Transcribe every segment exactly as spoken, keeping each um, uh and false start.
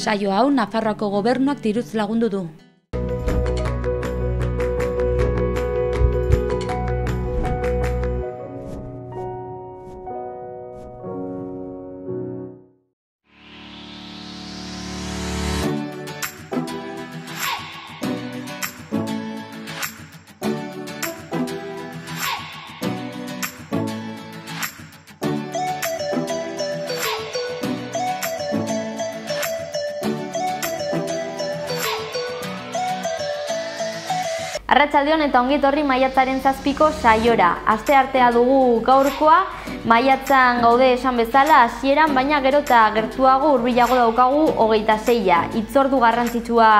Saio hau Nafarroako gobernuak diruz lagundu du. Arratsaldeon eta ongi etorri maiatzaren zazpiko saiora. Asteartea dugu gaurkoa, maiatzan gaude esan bezala hasieran, baina gero eta gertuago hurbilago daukagu hogeita seia. Hitzordu garrantzitsua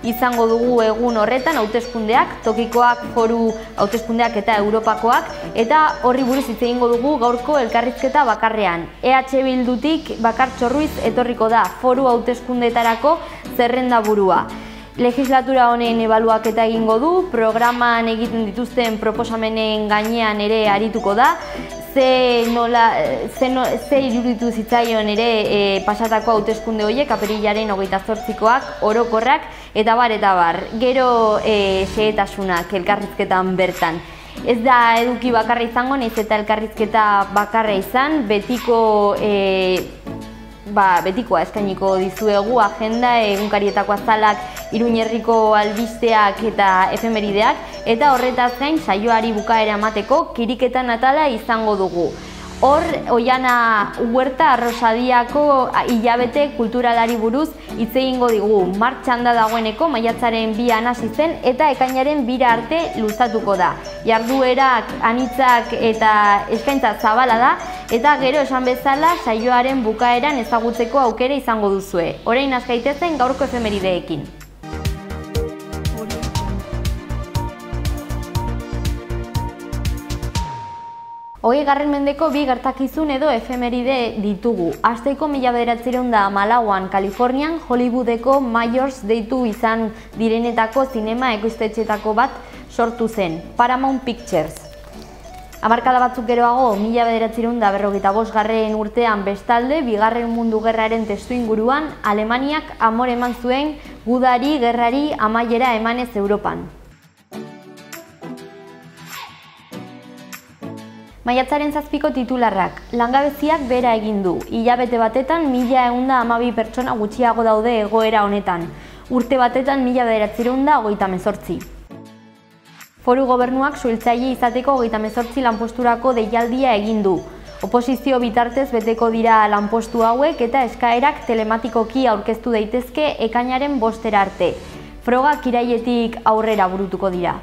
izango dugu egun horretan, hauteskundeak, tokikoak, foru hauteskundeak eta europakoak, eta horri buruz hitz egingo dugu gaurko elkarrizketa bakarrean. E H Bildutik Bakartxo Ruiz etorriko da foru hauteskundeetarako zerrenda burua. Legislatura honen ebaluaketa egingo du, programan egiten dituzten proposamenen gainean ere arituko da, ze, nola, ze, no, ze iruditu zitzaion ere e, pasatako hauteskunde horiek, apirilaren hogeita zortzikoak, orokorrak, eta bar, eta bar. Gero e, xehetasunak elkarrizketan bertan. Ez da eduki bakarra izango, nahiz eta elkarrizketa bakarra izan, betiko e, Ba, betikoa eskainiko dizuegu agenda, egunkarietako azalak, Iruñerriko albisteak eta efemerideak, eta horretaz gain saioari bukaera emateko kiriketan atala izango dugu. Hor, Oiana Huerta Arrosadiako hilabete kulturalari buruz hitz egingo digu. Martxan da dagoeneko, maiatzaren bian hasi zen eta ekainaren bira arte luzatuko da. Jarduerak, anitzak eta eskaintza zabala da, eta gero esan bezala saioaren bukaeran ezagutzeko aukera izango duzue. Orain has gaitezen gaurko efemerideekin. Hogei garren mendeko bi gertakizun edo efemeride ditugu. Hasteko mila bederatziehun eta hamalauan Kalifornian Hollywoodeko Mayors deitu izan direnetako zinema ekoiztetxeetako bat sortu zen, Paramount Pictures. Hamarkada batzuk geroago, mila bederatziehun eta berrogeita bosgarren urtean bestalde, bigarren mundu gerraren testuinguruan, Alemaniak amore eman zuen gudari gerrari amaiera emanez Europan. Maiatzaren zazpiko titularrak, langabeziak behera egin du. Hilabete batetan mila ehun eta hamabi pertsona gutxiago daude egoera honetan. Urte batetan mila bederatziehun eta hogeita hemezortzi. Foru gobernuak suhiltzaile izateko hogeita hemezortzi lanposturako deialdia egin du. Oposizio bitartez beteko dira lanpostu hauek eta eskaerak telematikoki aurkeztu daitezke ekainaren bostera arte. Frogak irailetik aurrera burutuko dira.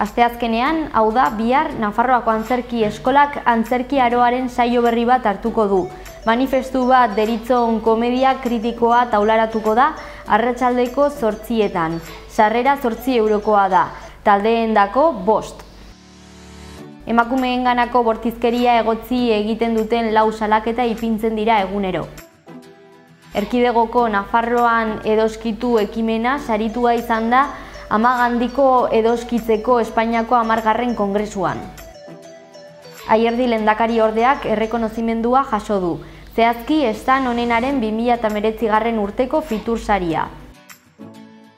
Asteazkenean, hau da, bihar Nafarroako Antzerki Eskolak antzerki aroaren saio berri bat hartuko du. Manifestu bat deritzon komedia kritikoa taularatuko da arratsaldeko zortzietan. Sarrera zortzi eurokoa da, taldeendako bost. Emakumeenganako bortizkeria egotzi egiten duten lau salaketa ipintzen dira egunero. Erkidegoko Nafarroan edoskitu ekimena saritua izan da Amagandiko edoskitzeko Espainiako hamargarren kongresuan. Aierdi lehendakari ordeak errekonozimendua jaso du. Zehazki estan honenaren bi mila hemeretzigarren urteko fitur saria.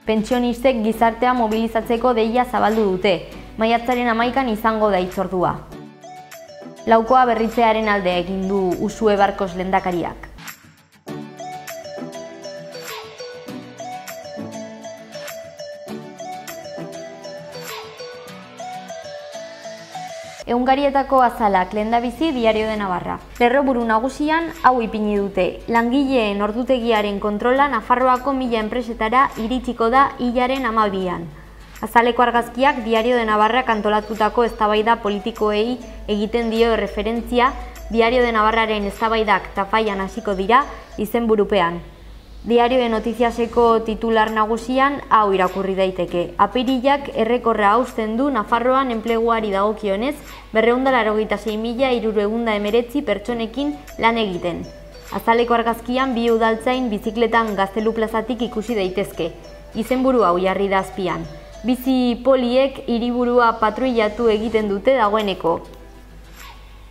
Pentsionistek gizartea mobilizatzeko deia zabaldu dute. Maiatzaren hamaikan izango da hitzordua. Laukoa berritzearen alde egin du Usue Barkos lehendakariak. Egunkarietako azalak, lehendabizi Diario de Navarra. Lerroburu nagusian hau ipini dute. Langileen ordutegiaren kontrola Nafarroako mila enpresetara iritsiko da hilaren hamabian. Azaleko argazkiak Diario de Navarra kantolatutako eztabaida politikoei egiten dio referentzia. Diario de Navarraren eztabaidak tafaian hasiko dira izenburupean. Diario de Notiziaseko titular nagusian hau irakurri daiteke. Apirilak errekorra hausten du Nafarroan enpleguari dagokionez berrehun eta laurogeita sei mila hirurehun eta hemeretzi pertsonekin lan egiten. Azaleko argazkian bi udaltzain bizikletan Gaztelu plazatik ikusi daitezke. Izenburu hau jarri da azpian. Bizi poliek hiriburua patruilatu egiten dute dagoeneko.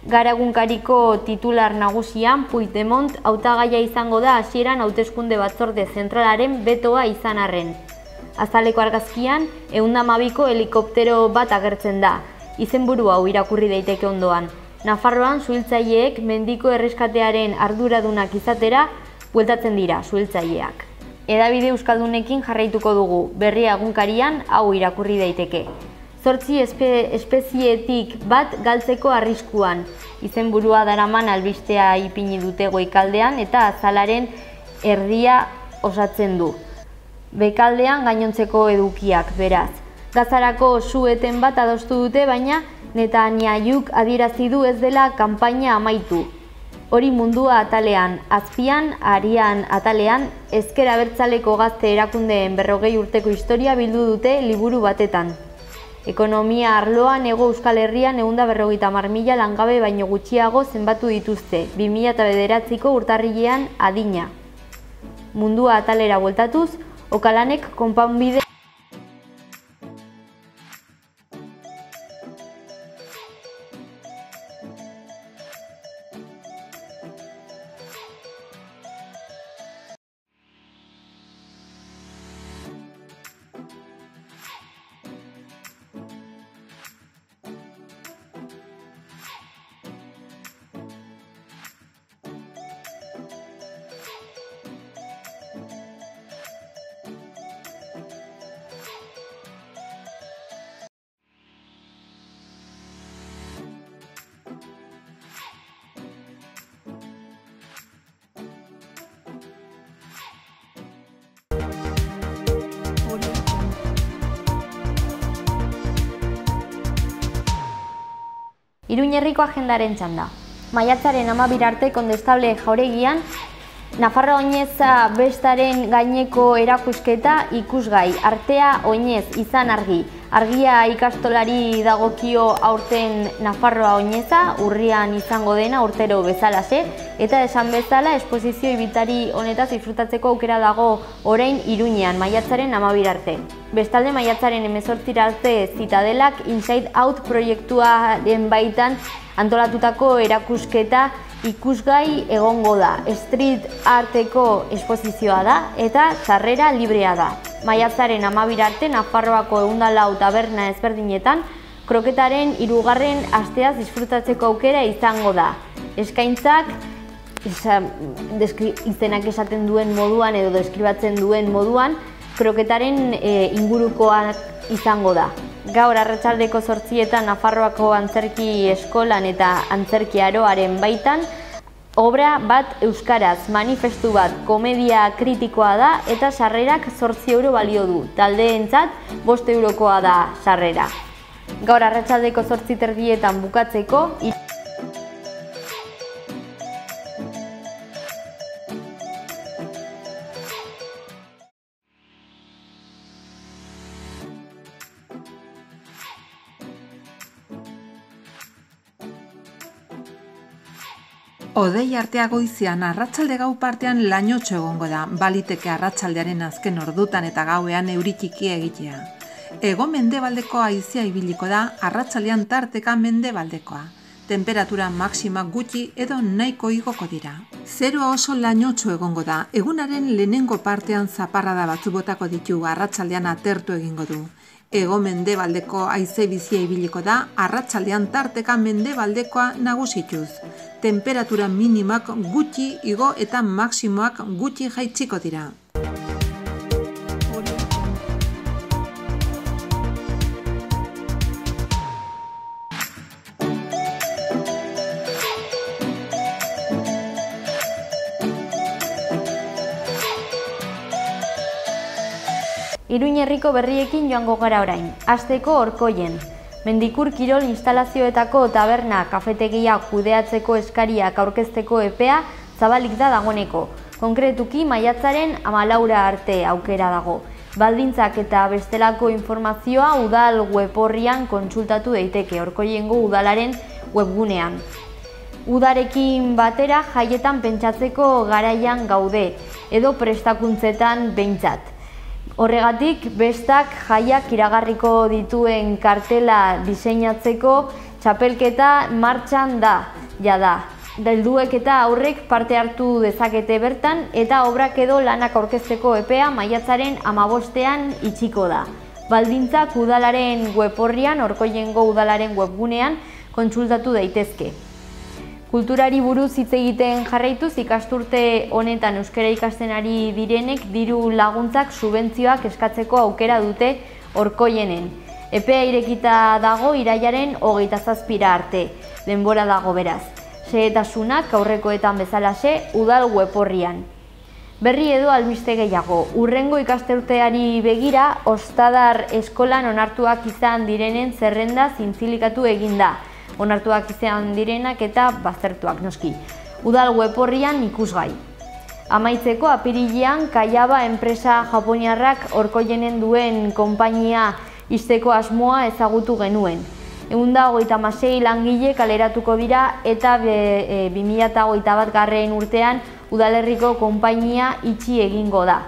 Gara egunkariko titular nagusian Puigdemont hautagaia izango da hasieran hauteskunde batzorde zentralaren betoa izan arren. Azaleko argazkian, ehun eta hamabiko helikoptero bat agertzen da. Izenburu hau irakurri daiteke ondoan. Nafarroan suhiltzaileek mendiko erreskatearen arduradunak izatera bueltatzen dira suhiltzaileak. Hedabide euskaldunekin jarraituko dugu, Berria egunkarian hau irakurri daiteke. Zortzi espe, espezietik bat galtzeko arriskuan. Izenburua daraman albistea ipini dute goikaldean eta azalaren erdia osatzen du. Bekaldean gainontzeko edukiak, beraz. Gazarako su-eten bat adostu dute, baina Netanyahuk adierazi du ez dela kanpaina amaitu. Hori mundua atalean, azpian, arian atalean, ezker abertzaleko gazte erakundeen berrogei urteko historia bildu dute liburu batetan. Ekonomia arloan Hego Euskal Herrian ehun eta berrogeita hamar mila langabe baino gutxiago zenbatu dituzte, bi mila bederatziko urtarrilean adina. Mundua atalera bueltatuz, Okalanek konponbide Iruñerriko agendaren txanda. Maiatzaren hamabira arte kondestable jauregian, Nafarroa Oineza bestaren gaineko erakusketa ikusgai. Artea Oinez izan argi. Argia ikastolari dagokio aurten Nafarroa Oineza, urrian izango dena urtero bezalaxe, eta esan bezala esposizio ibiltari honetaz disfrutatzeko aukera dago orain Iruñean, maiatzaren hamabira arte. Bestalde maiatzaren hemezortzira arte Zitadelak Inside Out proiektuaren baitan antolatutako erakusketa ikusgai egongo da. Street arteko esposizioa da eta sarrera librea da. Maiatzaren hamabira arte Nafarroako ehun eta lau taberna ezberdinetan kroketaren hirugarren asteaz disfrutatzeko aukera izango da. Eskaintzak izenak esaten duen moduan edo deskribatzen duen moduan kroketaren e, ingurukoak izango da. Gaur arratsaldeko zortzietan Nafarroako antzerki eskolan eta antzerki aroaren baitan obra bat euskaraz, manifestu bat, komedia kritikoa da eta sarrerak zortzi euro balio du. Taldeentzat bost eurokoa da sarrera. Gaur arratsaldeko zortzi terdietan bukatzeko Hodei artea goizian arratsalde gau partean lainotxo egongo da, baliteke arratsaldearen azken ordutan eta gauean euri txikia egitea. Hego mendebaldeko haizea ibiliko da, arratsaldean tarteka mendebaldekoa. Temperatura maxima gutxi edo nahiko igoko dira. Zeroa oso lainotxo egongo da, egunaren lehenengo partean zaparrada batzu botako ditu, arratsaldean atertu egingo du. Hego mendebaldeko haize bizia ibiliko da, arratsaldean tarteka mendebaldekoa nagusituz. Temperatura minimak gutxi igo eta maximoak gutxi jaitsiko dira. Iruñerriko berriekin joango gara orain. Hasteko Orkoien. Mendikur kirol instalazioetako taberna kafetegia kudeatzeko eskariak aurkezteko epea zabalik da dagoeneko. Konkretuki maiatzaren hamalaura arte aukera dago. Baldintzak eta bestelako informazioa udal weborrian kontsultatu daiteke, Orkoiengo udalaren webgunean. Udarekin batera jaietan pentsatzeko garaian gaude, edo prestakuntzetan behintzat. Horregatik, bestak jaiak iragarriko dituen kartela diseinatzeko Txapelketa martxan da, jada. Helduek eta aurrek parte hartu dezakete bertan eta obrak edo lanak aurkezteko epea maiatzaren hamabostean itxiko da. Baldintzak udalaren web orrian, Orkoiengo udalaren webgunean kontsultatu daitezke. Kulturari buruz hitz egiten jarraituz ikasturte honetan euskara ikasten ari direnek diru laguntzak subentzioak eskatzeko aukera dute Orkoienen. Epea irekita dago irailaren hogeita zazpira arte, denbora dago beraz. Xehetasunak aurrekoetan bezalaxe udal web orrian. Berri edo albiste gehiago, hurrengo ikasturteari begira, Ostadar eskolan onartuak izan direnen zerrenda zintzilikatu eginda. Onartuak izan direnak eta baztertuak noski. Udal web orrian ikusgai. Amaitzeko apirilean Kaiaba enpresa japoniarrak Orkoienen duen konpainia ixteko asmoa ezagutu genuen. Ehun eta hogeita hamasei langile kaleratuko dira eta bi mila hogeita bat garren urtean udalerriko konpainia itxi egingo da.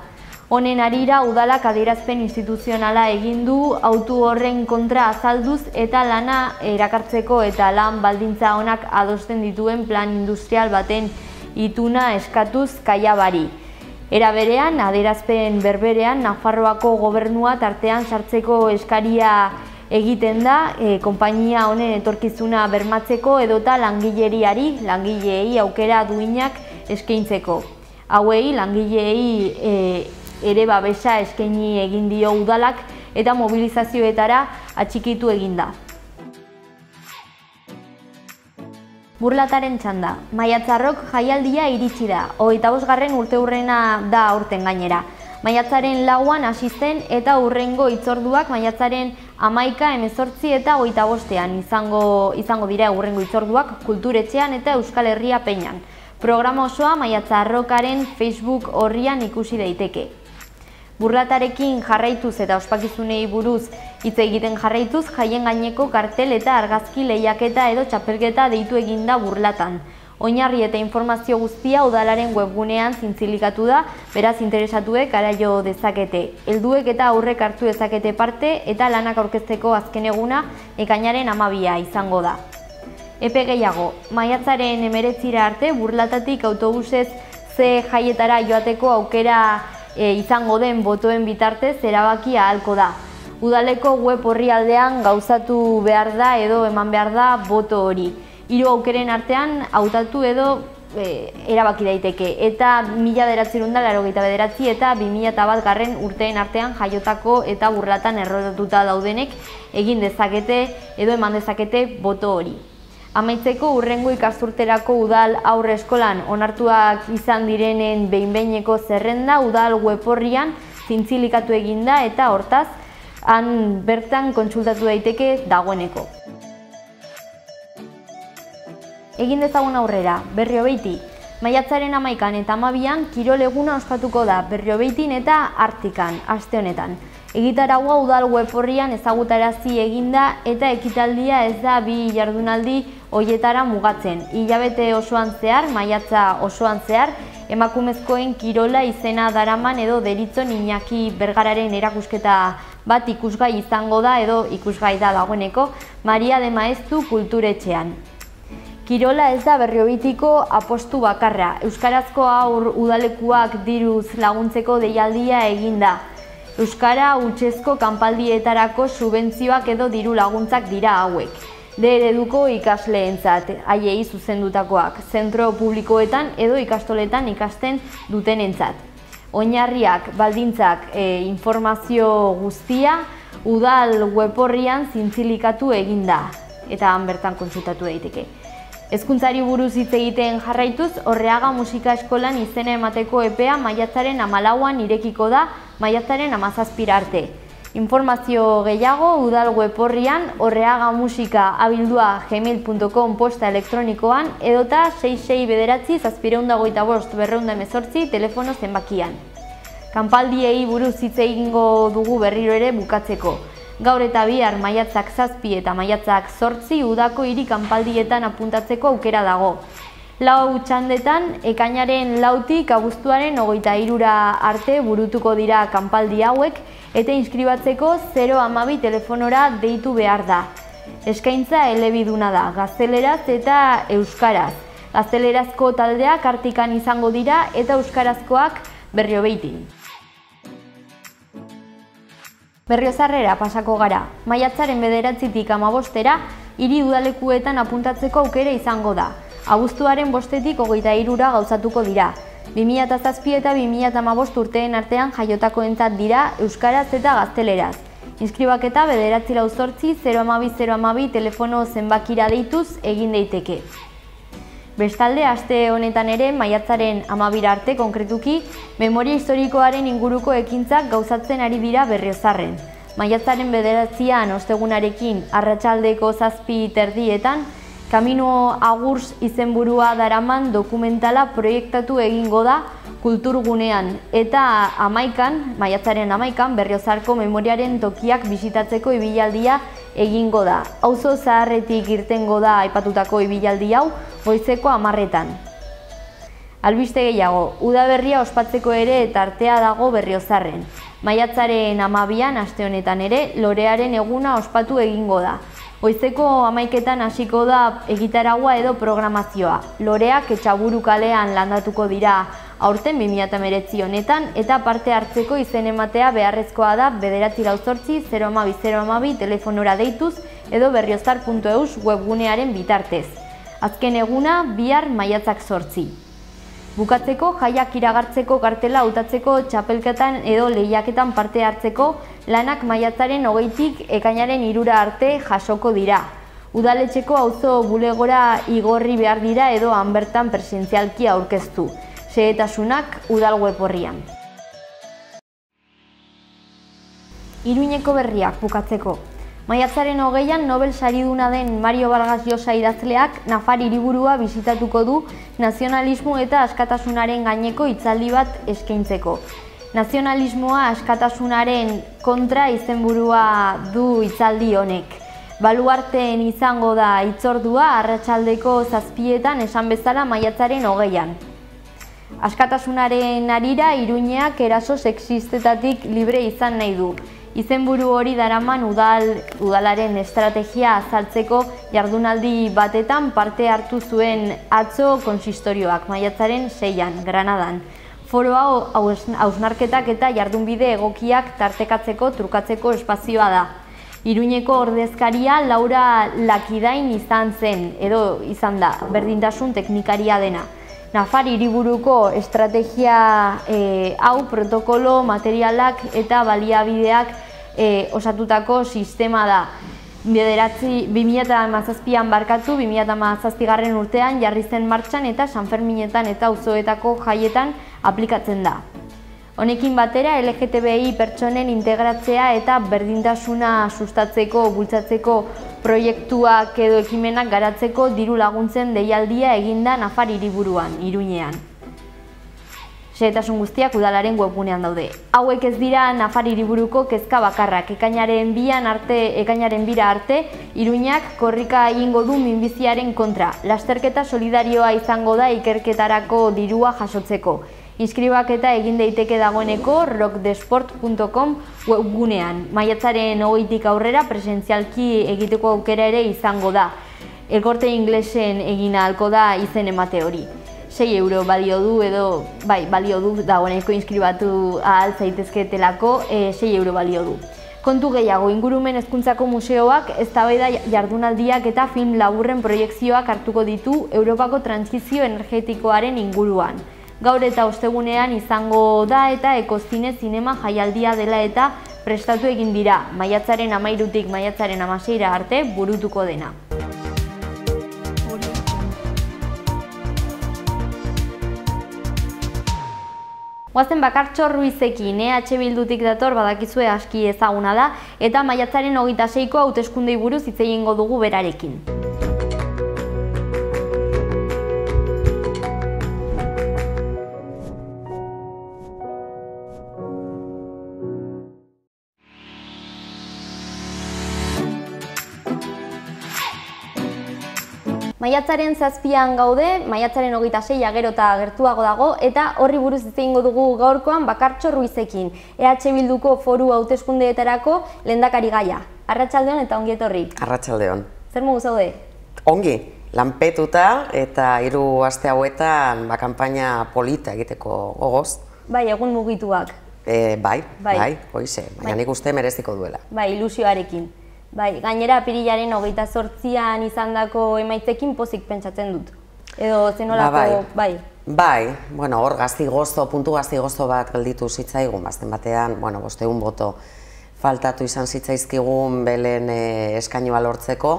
Honen harira udalak adierazpen instituzionala egin du autu horren kontra azalduz eta lana erakartzeko eta lan baldintza onak adosten dituen plan industrial baten ituna eskatuz Kaiabari. Era berean, adierazpen berberean, Nafarroako gobernua tartean sartzeko eskaria egiten da, e, konpainia honen etorkizuna bermatzeko edota langileriari, langileei aukera duinak eskaintzeko. Hauei, langileei e, ere babesa eskaini egin dio udalak eta mobilizazioetara atxikitu eginda. Burlataren txanda. Maiatzarrok jaialdia iritsi da, hogeita bosgarren urteurrena da aurten gainera. Maiatzaren lauan hasi zen eta hurrengo hitzorduak maiatzaren hamaika, hemezortzi eta hogeita bostean izango, izango dira hurrengo hitzorduak Kulturetxean eta Euskal Herria Peñan. Programa osoa Maiatzarrokaren Facebook orrian ikusi daiteke. Burlatarekin jarraituz eta ospakizunei buruz hitz egiten jarraituz, jaien gaineko kartel eta argazki lehiaketa edo txapelketa deitu eginda Burlatan. Oinarri eta informazio guztia udalaren webgunean zintzilikatu da, beraz interesatuek araio dezakete. Helduek eta aurrek hartu dezakete parte eta lanak aurkezteko azken eguna ekainaren hamabia izango da. Epe gehiago, maiatzaren hemeretzira arte Burlatatik autobusez ze jaietara joateko aukera e, izango den botoen bitartez erabaki ahalko da. Udaleko web orrialdean gauzatu behar da edo eman behar da boto hori. Hiru aukeren artean hautatu edo e, erabaki daiteke eta mila bederatziehun eta laurogeita bederatzi eta bi mila bat garren urteen artean jaiotako eta Burlatan errotuta daudenek egin dezakete edo eman dezakete boto hori. Amaitzeko hurrengo ikasturterako udal aurre eskolan onartuak izan direnen behin-behineko zerrenda udal web orrian zintzilikatu eginda eta hortaz han bertan kontsultatu daiteke dagoeneko. Egin dezagun aurrera, Berriobeitik. Maiatzaren hamaikan eta hamabian kirol eguna ospatuko da Berriobeitin eta Artikan, aste honetan. Egitaraua udal web orrian ezagutarazi eginda eta ekitaldia ez da bi jardunaldi hoietara mugatzen. Hilabete osoan zehar, maiatza osoan zehar, emakumezkoen kirola izena daraman edo deritzon Iñaki Bergararen erakusketa bat ikusgai izango da edo ikusgai da dagoeneko Maria de Maeztu Kulturetxean. Kirola ez da Berriobeitiko apostu bakarra. Euskarazko haur udalekuak diruz laguntzeko deialdia eginda. Euskara hutsezko kanpaldietarako subentzioak edo diru laguntzak dira hauek. D ereduko ikasleentzat, haiei zuzendutakoak, zentro publikoetan edo ikastoletan ikasten dutenentzat. Oinarriak, baldintzak, e, informazio guztia udal web orrian zintzilikatu eginda eta han bertan kontsultatu daiteke. Hezkuntzari buruz hitz egiten jarraituz, Orreaga Musika Eskolan izena emateko epea maiatzaren hamalauan irekiko da maiatzaren hamazazpira arte. Informazio gehiago udal web orrian orreagamusika abildua gmail puntu com posta elektronikoan edota sei sei bederatzi zazpiehun eta hogeita bost berrehun eta hemezortzi telefono zenbakian. Kanpaldiei buruz hitz egingo dugu berriro ere bukatzeko. Gaur eta bihar maiatzak zazpi eta maiatzak zortzi udako hiri kanpaldietan apuntatzeko aukera dago. Lau txandetan, ekainaren lautik abuztuaren hogeita hirura arte burutuko dira kanpaldi hauek eta inskribatzeko zero hamabi telefonora deitu behar da. Eskaintza elebiduna da, gazteleraz eta euskaraz. Gaztelerazko taldeak Artikan izango dira eta euskarazkoak Berriobeitin. Berriozarrera pasako gara. Maiatzaren bederatzitik hamabostera hiri udalekuetan apuntatzeko aukera izango da. Abuztuaren bostetik hogeita hirura gauzatuko dira. bi mila zazpi eta bi mila hamabost urteen artean jaiotakoentzat dira euskaraz eta gazteleraz. Inskribaketa bederatzi lau zortzi zero hamabi zero hamabi telefono zenbakira deituz egin daiteke. Bestalde, aste honetan ere, maiatzaren hamabira arte konkretuki, memoria historikoaren inguruko ekintzak gauzatzen ari dira Berriozarren. Maiatzaren bederatzian ostegunarekin arratsaldeko zazpi terdietan, Kamino Agurs izenburua daraman dokumentala proiektatu egingo da kulturgunean eta amaikan, maiatzaren amaikan, Berriozarko memoriaren tokiak bisitatzeko ibilaldia egingo da. Auzo zaharretik irtengo da aipatutako ibilaldi hau goizeko hamarretan. Albiste gehiago, udaberria ospatzeko ere tartea dago Berriozarren. Maiatzaren hamabian, aste honetan ere, lorearen eguna ospatu egingo da. Goizeko hamaiketan hasiko da egitaragua edo programazioa. Loreak Etxaburu kalean landatuko dira aurten bi mila hemeretzi honetan eta parte hartzeko izen ematea beharrezkoa da bederatzi lau zortzi zero hamabi zero hamabi telefonora deituz edo berriozar puntu eus webgunearen bitartez. Azken eguna bihar maiatzak zortzi. Bukatzeko jaiak iragartzeko kartela hautatzeko txapelketan edo lehiaketan parte hartzeko lanak maiatzaren hogeitik ekainaren hirura arte jasoko dira. Udaletxeko auzo bulegora igorri behar dira edo han bertan presentzialki aurkeztu. Xehetasunak udal web orrian. Iruñeko berriak bukatzeko. Maiatzaren hogeian Nobel sariduna den Mario Vargas Llosa idazleak Nafar hiriburua bisitatuko du nazionalismo eta askatasunaren gaineko hitzaldi bat eskaintzeko. Nazionalismoa askatasunaren kontra izenburua du hitzaldi honek. Baluarteen izango da hitzordua arratsaldeko zazpietan esan bezala maiatzaren hogeian. Askatasunaren harira Iruñeak eraso sexistetatik libre izan nahi du. Izenburu hori daraman udal, udalaren estrategia azaltzeko jardunaldi batetan parte hartu zuen atzo konsistorioak maiatzaren seian, Granadan. Foro hau hausnarketak eta jardunbide egokiak tartekatzeko trukatzeko espazioa da. Iruñeko ordezkaria Laura Lakidain izan zen, edo izan da, berdintasun teknikaria dena. Nafar hiriburuko estrategia e, hau protokolo, materialak eta baliabideak e, osatutako sistema da. bi mila hamazazpian barkatu, bi mila hamazazpigarren urtean jarri zen martxan eta Sanferminetan eta auzoetako jaietan aplikatzen da. Honekin batera, L G T B I pertsonen integratzea eta berdintasuna sustatzeko, bultzatzeko proiektuak edo ekimenak garatzeko diru laguntzen deialdia eginda Nafar hiriburuan, Iruñean. Xehetasun guztiak udalaren webgunean daude. Hauek ez dira Nafar hiriburuko kezka bakarrak. Ekainaren bian arte, ekainaren bira arte, Iruñak korrika egingo du minbiziaren kontra. Lasterketa solidarioa izango da ikerketarako dirua jasotzeko. Inskribaketa egin daiteke dagoeneko rockdesport puntu com webgunean. Maiatzaren hogeitik aurrera presentzialki egiteko aukera ere izango da. Elkorte inglesen egin ahalko da izen emate hori. sei euro balio du edo, bai, balio du dagoeneko inskribatu ahal zaitezketelako, e, sei euro balio du. Kontu gehiago, Ingurumen Hezkuntzako Museoak eztabaida jardunaldiak eta film laburren proiekzioak hartuko ditu Europako trantsizio energetikoaren inguruan. Gaur eta ostegunean izango da eta Ekozine zinema jaialdia dela eta prestatu egin dira, maiatzaren hamairutik maiatzaren hamaseira arte burutuko dena. Goazen Bakartxo Ruizekin, E H Bildutik dator badakizue aski ezaguna da, eta maiatzaren hogeita seiko hauteskundei buruz hitz egingo dugu berarekin. Maiatzaren zazpian gaude, maiatzaren hogeita seia gero eta gertuago dago, eta horri buruz hitz egingo dugu gaurkoan Bakartxo Ruizekin, E H Bilduko foru hauteskundeetarako lehendakari gaia. Arratsaldeon eta ongi etorri. Arratsaldeon. Zer modu zaude? Ongi, lanpetuta eta hiru aste hauetan ba kanpaina polita egiteko gogoz. Bai, egun mugituak. E, bai, bai, bai, hoize, baina nik uste mereziko duela. Bai, ilusioarekin. Bai, gainera apirilaren hogeita zortzian izandako emaitzekin pozik pentsatzen dut. Edo zenolako, ba, bai. Bai, bueno, hor gazti gozto, puntu gazti gozto bat gelditu zitzaigun, bazten batean, bueno, bosteun boto faltatu izan zitzaizkigun belen e, eskainua lortzeko,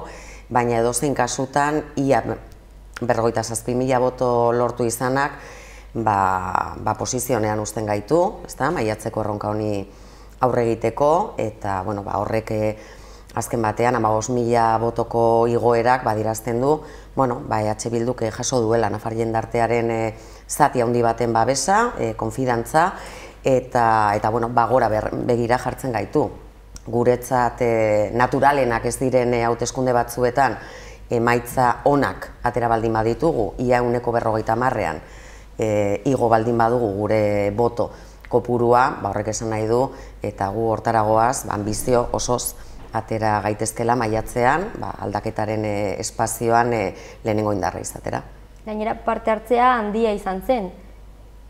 baina edozein kasutan, ia berrogeita zazpi mila boto lortu izanak, ba, ba posizionean uzten gaitu, ezta, maiatzeko erronka honi aurre egiteko, eta, bueno, ba, horrek azken batean, hamabost mila botoko igoerak badirazten du, bueno, ba, E H Bilduk jaso duela Nafar jendartearen e, zati handi baten babesa, e, konfidantza, eta, eta bueno, ba, gora begira jartzen gaitu. Guretzat e, naturalenak ez diren e, hauteskunde batzuetan emaitza onak atera baldin baditugu, ia ehuneko berrogeita hamarrean e, igo baldin badugu gure boto kopurua, ba, horrek esan nahi du, eta gu hortaragoaz, ba, ambizio osoz atera gaitezkela maiatzean, ba, aldaketaren e, espazioan e, lehenengo indarra izatera. Gainera parte hartzea handia izan zen,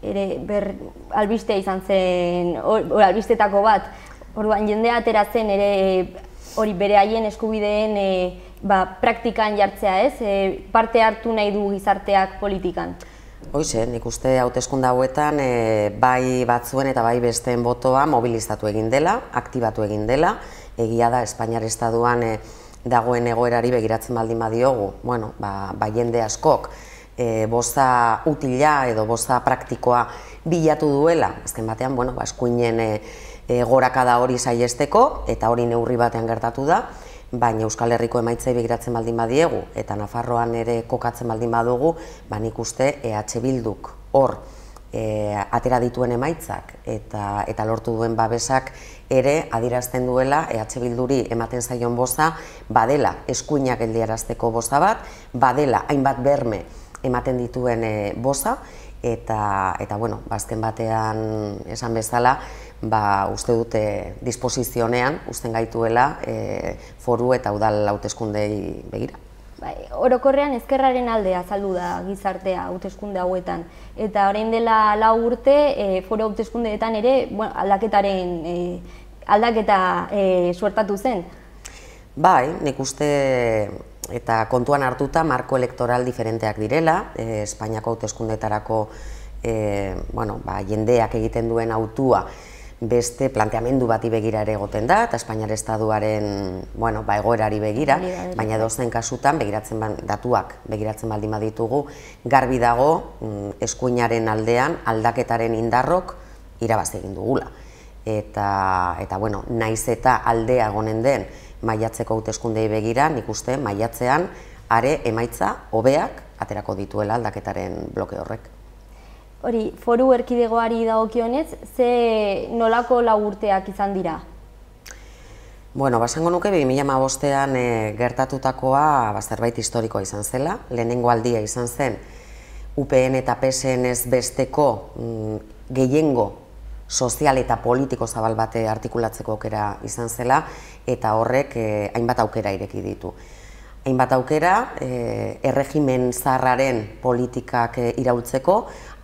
ere ber, albistea izan zen, or, or, albistetako bat, orduan jendea ateratzen ere hori bere haien eskubideen e, ba, praktikan jartzea, ez? E, parte hartu nahi du gizarteak politikan. Hoize, nik uste hauteskunde hauetan e, bai batzuen eta bai besteen botoa mobilizatu egin dela, aktibatu egin dela. Egia da, Espainiar Estaduan e, dagoen egoerari begiratzen baldin badiogu, bueno, ba, ba jende askok e, boza utila edo boza praktikoa bilatu duela, azken batean, bueno, ba, eskuinen e, e, gorakada hori saihesteko, eta hori neurri batean gertatu da, baina Euskal Herriko emaitzei begiratzen baldin badiegu, eta Nafarroan ere kokatzen baldin badugu, ba nik uste E H Bilduk hor e, atera dituen emaitzak eta, eta lortu duen babesak ere adierazten duela E H Bilduri ematen zaion boza badela eskuinak geldiarazteko boza bat, badela hainbat berme ematen dituen e, boza, eta, eta bueno, bazken batean esan bezala, ba, uste dute disposizionean, usten gaituela e, foru eta udal hauteskundei begira. Bai, orokorrean ezkerraren aldea azaldu da gizartea hauteskunde hauetan, eta orain dela lau urte e, foru hauteskundeetan ere bueno, aldaketaren e, aldaketa e, suertatu zen. Bai, nik uste eta kontuan hartuta marko elektoral diferenteak direla, e, Espainiako hauteskundeetarako e, bueno, ba, jendeak egiten duen hautua beste planteamendu bati begira ere egoten da, eta Espainiar Estaduaren bueno, ba, egoerari begira, baina edozein kasutan begiratzen datuak begiratzen baldin baditugu, garbi dago eskuinaren aldean aldaketaren indarrok irabaz egin dugula. Eta, eta bueno, naiz eta aldea egonen den maiatzeko hauteskundei begira, nik uste maiatzean are emaitza hobeak aterako dituela aldaketaren bloke horrek. Hori, foru erkidegoari dagokionez, ze nolako lau urteak izan dira? Bueno, basango nuke bi mila hamabostean e, gertatutakoa ba, zerbait historikoa izan zela. Lehenengo aldia izan zen U P N eta P S N ez besteko mm, gehiengo sozial eta politiko zabal bate artikulatzeko aukera izan zela, eta horrek e, hainbat aukera ireki ditu. Hainbat aukera, e, erregimen zaharraren politikak e, iraultzeko,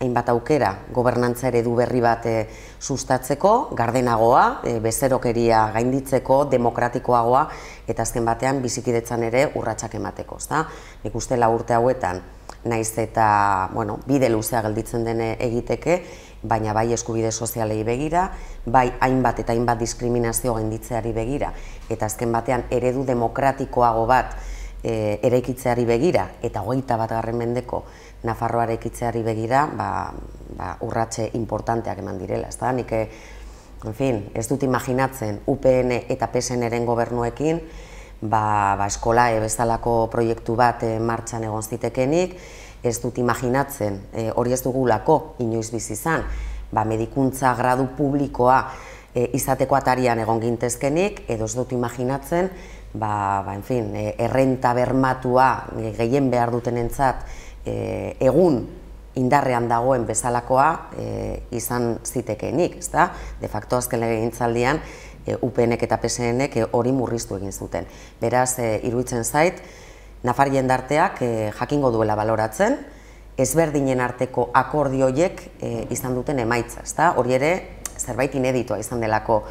hainbat aukera gobernantza eredu berri bat e, sustatzeko, gardenagoa, e, bezerokeria gainditzeko, demokratikoagoa, eta azken batean bizikidetzan ere urratsak emateko. Ezta? Nik uste lau urte hauetan, naiz eta bueno, bide luzea gelditzen dene egiteke, baina bai eskubide sozialei begira, bai hainbat eta hainbat diskriminazio gainditzeari begira, eta azken batean eredu demokratikoago bat e, eraikitzeari begira, eta hogeita bat garren mendeko Nafarroa eraikitzeari begira, ba, ba, urratxe importanteak eman direla. Ez da, nik, en fin, ez dut imaginatzen U P N eta P S N-ren gobernuekin, ba, ba, eskolae bezalako proiektu bat e, martxan egon zitekenik, ez dut imaginatzen, e, hori ez dugulako inoiz bizi izan, ba, medikuntza gradu publikoa e, izateko atarian egon gintezkenik, edo ez dut imaginatzen, ba, ba, en fin, e, errenta bermatua e, gehien behar dutenentzat e, egun indarrean dagoen bezalakoa e, izan zitekeenik, ezta? De facto azken legegintzaldian U P N-ek eta P S N-ek hori murriztu egin zuten. Beraz, iruditzen zait, nafar jendarteak jakingo duela baloratzen, ezberdinen arteko akordioiek izan duten emaitza, ezta? Hori ere, zerbait ineditua izan delako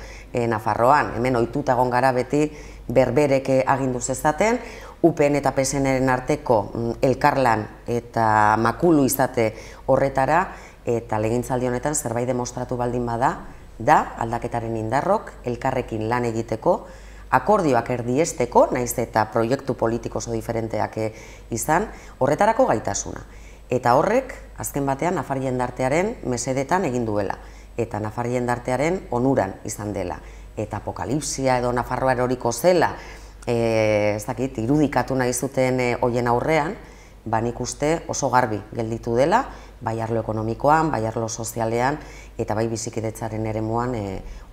Nafarroan, hemen ohituta egon gara beti berberek agindu zezaten, U P N eta P S N-ren arteko elkarlan eta makulu izate horretara, eta legegintzaldi honetan zerbait demostratu baldin bada, da aldaketaren indarrok elkarrekin lan egiteko, akordioak erdiesteko, naiz eta proiektu politiko oso diferenteak izan, horretarako gaitasuna. Eta horrek, azken batean, nafar jendartearen mesedetan egin duela, eta nafar jendartearen onuran izan dela. Eta apokalipsia edo Nafarroa eroriko zela, ez dakit, irudikatu nahi zuten hoien aurrean, ba nik uste oso garbi gelditu dela, bai arlo ekonomikoan, bai arlo sozialean, eta bai bizikidetzaren eremuan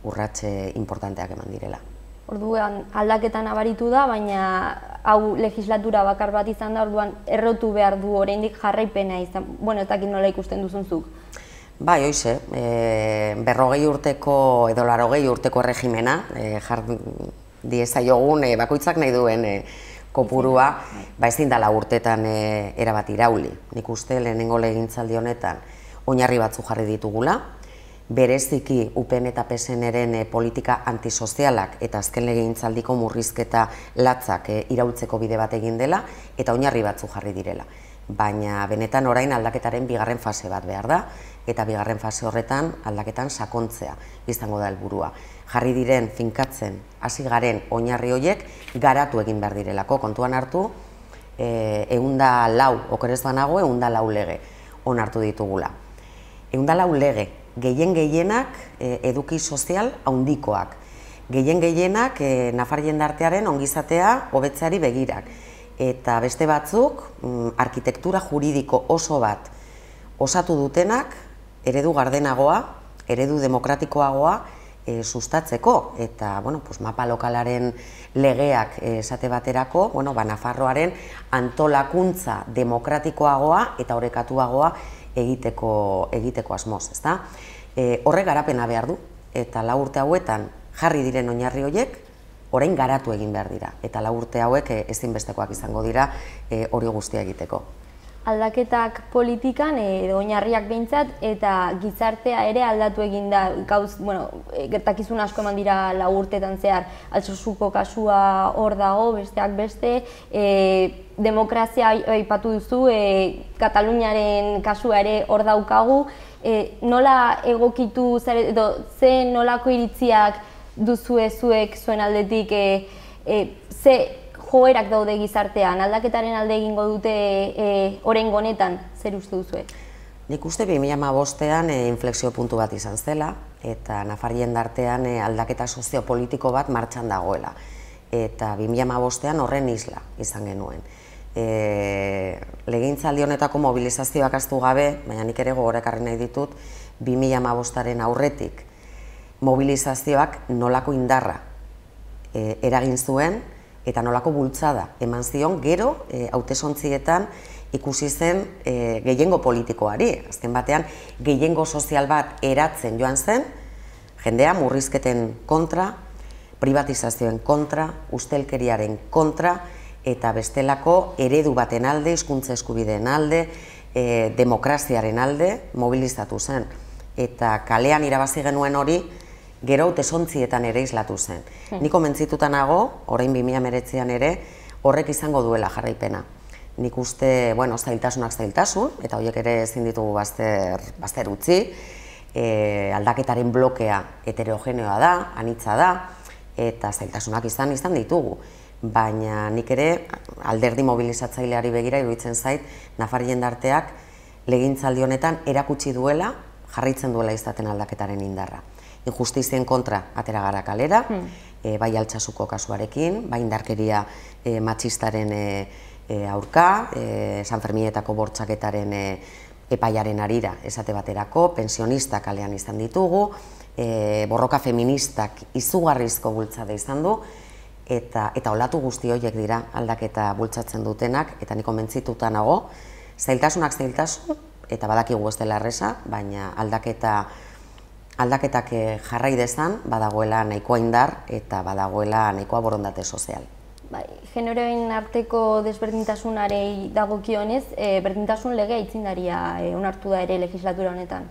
urratxe importanteak eman direla. Orduan aldaketan abaritu da, baina hau legislatura bakar bat izan da, orduan errotu behar du oraindik jarraipena izan, bueno, ez dakit nola ikusten duzunzuk. Bai, hoize, berrogei urteko edo larogei urteko erregimena, jar diezaiogun bakoitzak nahi duen kopurua, ba ezin dela urtetan erabat irauli. Nik uste lehenengo legegintzaldi honetan oinarri batzu jarri ditugula, bereziki U P N eta P S N-ren politika antisozialak eta azken legegintzaldiko murrizketa latzak iraultzeko bide bat egin dela, eta oinarri batzu jarri direla. Baina benetan orain aldaketaren bigarren fase bat behar da, eta bigarren fase horretan aldaketan sakontzea izango da helburua. Jarri diren finkatzen hasi garen oinarri horiek garatu egin behar direlako, kontuan hartu, ehunda lau, okerez banago, ehunda lau lege onartu ditugula. Ehunda lau lege, gehien gehienak eduki sozial handikoak, gehien gehienak nafar jendartearen ongizatea hobetzeari begirak, eta beste batzuk arkitektura juridiko oso bat osatu dutenak eredu gardenagoa, eredu demokratikoagoa sustatzeko, eta mapa lokalaren legeak esate baterako, Nafarroaren antolakuntza demokratikoagoa eta orekatuagoa egiteko asmoz, ezta? Horrek garapena behar du, eta lau urte hauetan jarri diren oinarri horiek, orain garatu egin behar dira, eta lau urte hauek ezinbestekoak izango dira hori guztia egiteko. Aldaketak politikan edo oinarriak behintzat, eta gizartea ere aldatu egin da, gauz, bueno, gertakizun asko eman dira lau urtetan zehar, Altsosuko kasua hor dago, besteak beste, demokrazia aipatu duzu, Kataluniaren kasua ere hor daukagu, nola egokitu, edo ze nolako iritziak duzue zuek zuen aldetik, ze joerak daude gizartean, aldaketaren alde egingo dute oraingo honetan, zer uste duzue? Nik uste bi mila hamabostean inflexio puntu bat izan zela, eta nafar jendartean aldaketa soziopolitiko bat martxan dagoela. Eta bi mila hamabostean horren isla izan genuen. Legegintzaldi honetako mobilizazioak ahaztu gabe, baina nik ere gogorekarri nahi ditut, bi mila hamabostaren aurretik mobilizazioak nolako indarra eragin zuen, eta nolako bultzada eman zion gero hautesontzietan ikusi zen gehiengo politikoari. Azken batean, gehiengo sozial bat eratzen joan zen, jendea murrizketen kontra, privatizazioen kontra, ustelkeriaren kontra, eta bestelako eredu baten alde, hizkuntza eskubideen alde, demokraziaren alde mobilizatu zen. Eta kalean irabazi genuen hori, gero hautesontzietan ere islatu zen. Nik konbentzituta nago, orain bi mila hemeretzian ere, horrek izango duela jarraipena. Nik uste, bueno, zailtasunak zailtasun, eta horiek ere ezin ditugu bazter utzi, aldaketaren blokea heterogeneoa da, anitza da, eta zailtasunak izan izan ditugu. Baina nik ere, alderdi mobilizatzaileari begira iruditzen zait, nafar jendarteak legegintzaldi honetan erakutsi duela, jarraitzen duela izaten aldaketaren indarra. Injustizien kontra atera gara kalera, bai Altsasuko kasuarekin, bai indarkeria matxistaren aurka, San Ferminetako bortxaketaren epaiaren arira esate baterako, pensionista kalean izan ditugu, borroka feministak izugarrizko bultzada izan du, eta olatu guzti horiek dira aldaketa bultzatzen dutenak, eta nik konbentzituta nago, zailtasunak zailtasun, eta badakigu ez dela erresa, baina aldaketa aldaketak jarrai dezan, badagoela nahikoa indar eta badagoela nahikoa borondate sozial. Bai, generoen arteko desberdintasunarei dagokionez, e, berdintasun legea aitzindaria e, onartu da ere legislatura honetan.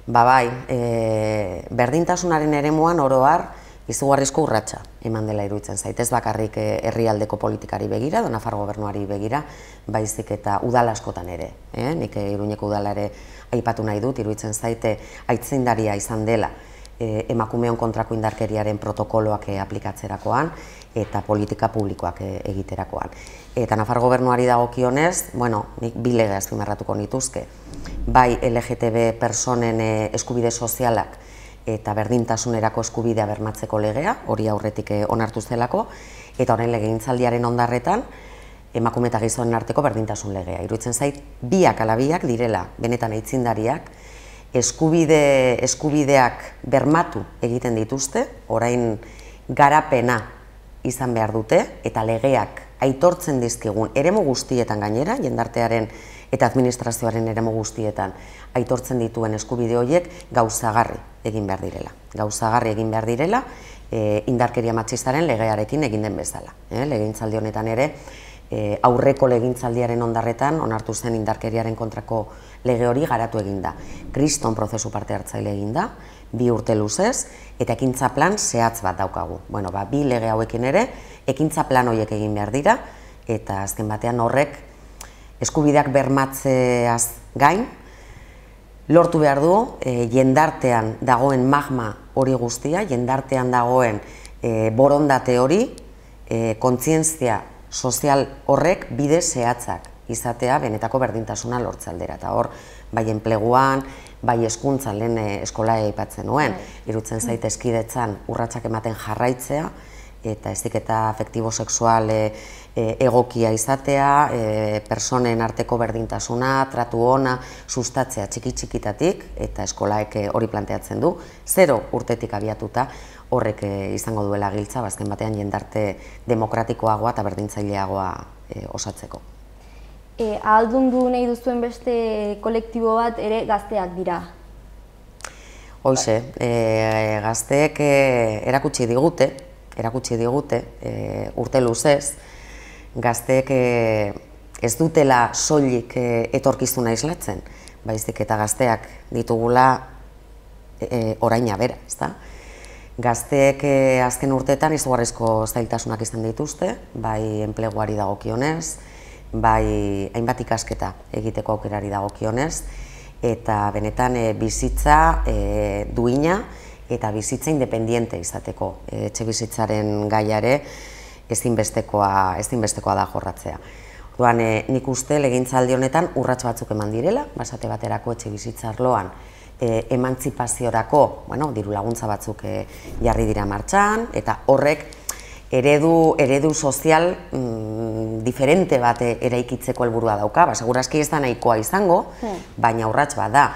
Ba bai, e, berdintasunaren eremuan oro har izugarrizko urratsa eman dela iruditzen zait. Ez bakarrik herrialdeko politikari begira, edo Nafar gobernuari begira, baizik eta udal askotan ere. Eh? Nik Iruñeko udala ere aipatu nahi dut, iruditzen zaite aitzindaria izan dela e, emakumeon kontrako indarkeriaren protokoloak e, aplikatzerakoan eta politika publikoak e, egiterakoan. Eta Nafar gobernuari dagokionez, bueno, nik bi lege azpimarratuko nituzke. Bai L G T B personen e, eskubide sozialak eta berdintasunerako eskubidea bermatzeko legea, hori aurretik onartu zelako, eta horren legegintzaldiaren ondarretan, emakume eta gizonen arteko berdintasun legea. Iruditzen zait, biak ala biak direla, benetan aitzindariak, eskubide, eskubideak bermatu egiten dituzte, orain garapena izan behar dute, eta legeak aitortzen dizkigun eremu guztietan gainera, jendartearen eta administrazioaren eremu guztietan aitortzen dituen eskubide horiek gauzagarri egin behar direla. Gauzagarri egin behar direla e, indarkeria matxistaren legearekin egin den bezala. E, legegintzaldi honetan ere, e, aurreko legegintzaldiaren ondarretan onartu zen indarkeriaren kontrako lege hori garatu egin da. Kriston prozesu parte hartzaile egin da, bi urte luzez, eta ekintza plan zehatz bat daukagu. Bueno, ba, bi lege hauekin ere, ekintza plan horiek egin behar dira, eta azken batean horrek eskubideak bermatzeaz gain, lortu behar du, e, jendartean dagoen magma hori guztia, jendartean dagoen e, borondate hori, e, kontzientzia sozial horrek bide zehatzak izatea benetako berdintasuna lortze aldera. Eta hor, bai enpleguan, bai hezkuntzan lehen eskola aipatzen nuen, irutzen zait eskidetzan urratsak ematen jarraitzea, eta heziketa afektibo-sexual e, e, egokia izatea, e, personen arteko berdintasuna, tratu ona, sustatzea txiki-txikitatik, eta eskolaek hori planteatzen du, zero urtetik abiatuta horrek e, izango duela giltza, bazken batean jendarte demokratikoagoa eta berdintzaileagoa e, osatzeko. E, ahaldundu nahi duzuen beste kolektibo bat ere gazteak dira. Hoize, e, gazteek e, erakutsi digute, erakutsi digute, e, urte luzez, gazteek e, ez dutela soilik e, etorkizuna islatzen, baizik eta gazteak ditugula e, oraina bera, ezta? Gazteek e, azken urteetan izugarrizko zailtasunak izan dituzte, bai enpleguari dagokionez, bai hainbat ikasketa egiteko aukerari dagokionez, eta benetan e, bizitza e, duina, eta bizitza independiente izateko etxe bizitzaren gaiare ezinbestekoa, ezinbestekoa da jorratzea. Orduan, e, nik uste legegintzaldi honetan urrats batzuk eman direla, basate baterako etxe bizitza arloan e, emantzipaziorako, bueno, diru laguntza batzuk e, jarri dira martxan, eta horrek eredu, eredu sozial mm, diferente bat eraikitzeko helburua dauka, ba, segurazki ez da nahikoa izango, baina urrats bat da.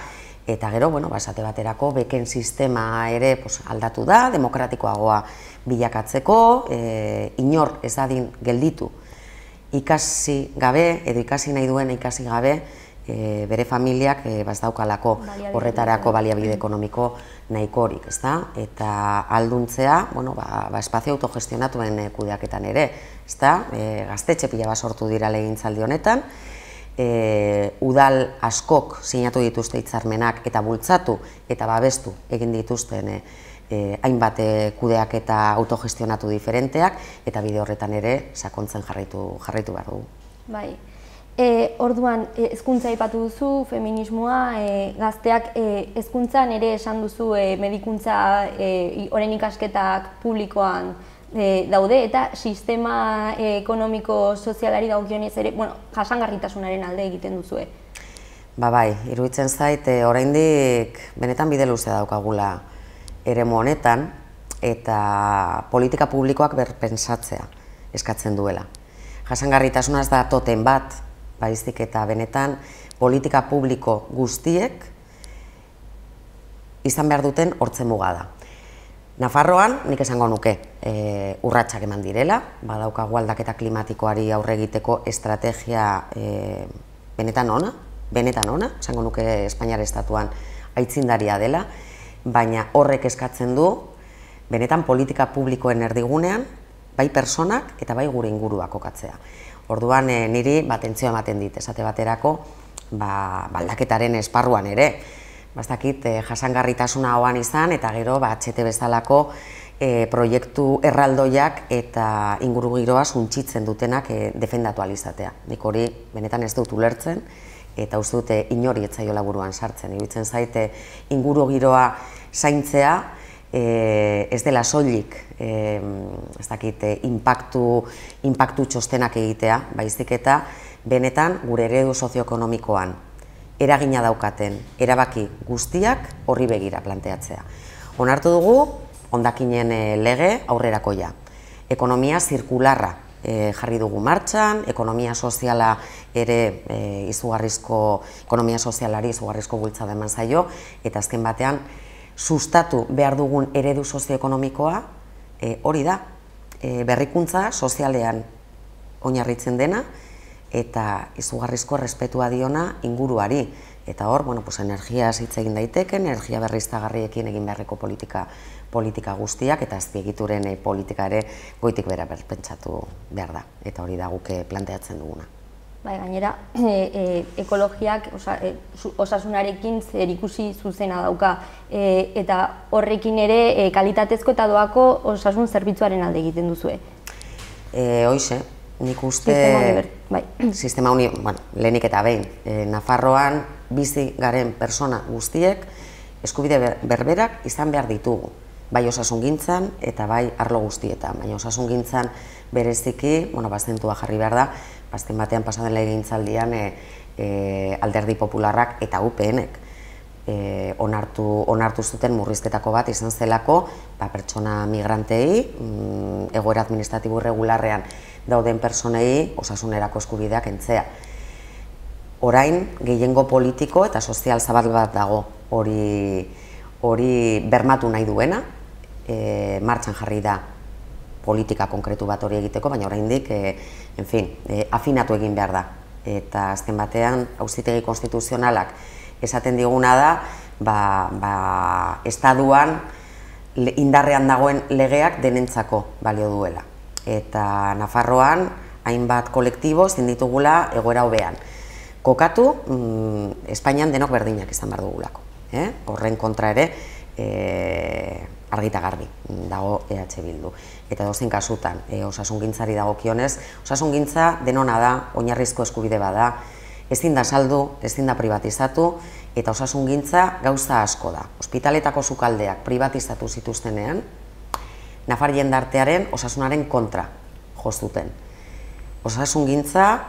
Eta gero, bueno, basate baterako beken sistema ere pues, aldatu da, demokratikoagoa bilakatzeko, e, inor ez adin gelditu ikasi gabe, edo ikasi nahi duen ikasi gabe, e, bere familiak e, bazdaukalako horretarako baliabide ekonomiko nahikorik, ezta? Eta alduntzea, bueno, ba, ba espazio autogestionatuen kudeaketan ere, ezta? E, gaztetxe pila bat sortu dira legegintzaldi honetan, E, udal askok sinatu dituzte hitzarmenak eta bultzatu eta babestu egin dituzten e, e, hainbat kudeak eta autogestionatu diferenteak, eta bide horretan ere sakontzen jarraitu, jarraitu behar dugu. Bai. E, orduan, e, hezkuntza aipatu duzu, feminismoa, e, gazteak e, hezkuntzan ere esan duzu e, medikuntza, e, orain ikasketak publikoan E, daude, eta sistema e, ekonomiko-sozialari dagokionez ere, bueno, jasangarritasunaren alde egiten duzue. Ba bai, iruditzen zait, e, oraindik benetan bide luzea daukagula eremu honetan, eta politika publikoak berpentsatzea eskatzen duela. Jasangarritasuna ez da toten bat, baizik eta benetan politika publiko guztiek izan behar duten hortze muga da. Nafarroan, nik esango nuke, e, urratsak eman direla, badaukagu aldaketa klimatikoari aurre egiteko estrategia e, benetan ona, benetan ona, esango nuke Espainiar estatuan aitzindaria dela, baina horrek eskatzen du, benetan politika publikoen erdigunean, bai personak eta bai gure ingurua kokatzea. Orduan niri atentzioa ematen dit, esate baterako, aldaketaren esparruan ere. Bastakit, jasangarritasuna hauan izan, eta gero H T bezalako proiektu erraldoiak eta ingurugiroa suntsitzen dutenak defendatu alizatea. Nik hori benetan ez dut ulertzen, eta uste dute inori etzaiola buruan sartzen. Iruditzen zaite ingurugiroa zaintzea ez dela soilik ez dakit inpaktu txostenak egitea, baizik eta benetan gure eredu sozioekonomikoan eragina daukaten erabaki guztiak horri begira planteatzea. Onartu dugu hondakinen lege aurrerakoia. Ekonomia zirkularra jarri dugu martxan, ekonomia soziala ere izugarrizko, ekonomia sozialari izugarrizko bultzada eman zaio, eta azken batean sustatu behar dugun eredu sozioekonomikoa hori da, berrikuntza sozialean oinarritzen dena, eta izugarrizko errespetua diona inguruari. Eta hor, energiaz hitz egin daiteken, energia berriztagarriekin egin beharreko politika guztiak, eta azpiegituren politika ere goitik bera berpentsatu behar da. Eta hori da guke planteatzen duguna. Gainera, ekologiak osasunarekin zerikusi zuzena dauka, eta horrekin ere kalitatezko eta doako osasun zerbitzuaren alde egiten duzue. Hoize, nik uste sistema honi, lehenik eta behin, Nafarroan bizi garen persona guztiek eskubide berberak izan behar ditugu, bai osasungintzan eta bai arlo guztietan, baina osasungintzan bereziki, bazentua jarri behar da, azken batean pasaden legegintzaldian Alderdi Popularrak eta U P Nek onartu zuten murrizketako bat izan zelako pertsona migrantei, egoera administratibo irregularrean dauden personei osasunerako eskubideak kentzea. Orain, gehiengo politiko eta sozial zabal bat dago hori bermatu nahi duena, martxan jarri da politika konkretu bat hori egiteko, baina oraindik, en fin, afinatu egin behar da. Eta azken batean, Auzitegi Konstituzionalak esaten diguna da, estaduan indarrean dagoen legeak denentzako balio duela. Eta Nafarroan, hainbat kolektibo ezin ditugula egoera hobean. Kokatu, Espainian denok berdinak izan behar dugulako. Horren kontra ere, argita garbi dago E H Bildu. Eta dozein kasutan, osasungintzari dagokionez, osasungintza denona da, oinarrizko eskubide bada, ezin da saldu, ezin da privatizatu, eta osasungintza gauza asko da. Ospitaletako sukaldeak privatizatu zituztenean, Nafar jendartearen osasunaren kontra jozuten. Osasungintza